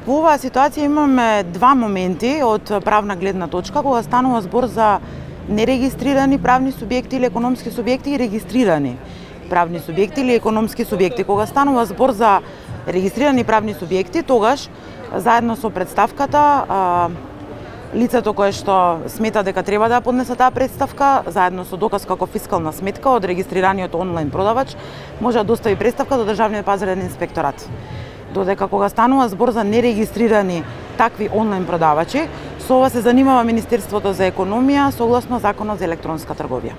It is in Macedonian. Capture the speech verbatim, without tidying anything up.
Во оваа ситуација имаме два моменти од правна гледна точка, кога станува збор за нерегистрирани правни субјекти или економски субјекти и регистрирани правни субјекти или економски субјекти. Кога станува збор за регистрирани правни субјекти, тогаш заедно со претставката лицето кое што смета дека треба да поднесе таа претставка, заедно со доказ како фискална сметка од регистрираниот онлайн продавач, може да достави претставка до Државниот пазарен инспекторат. Додека кога станува збор за нерегистрирани такви онлайн продавачи, со ова се занимава Министерството за економија согласно Законот за електронска трговија.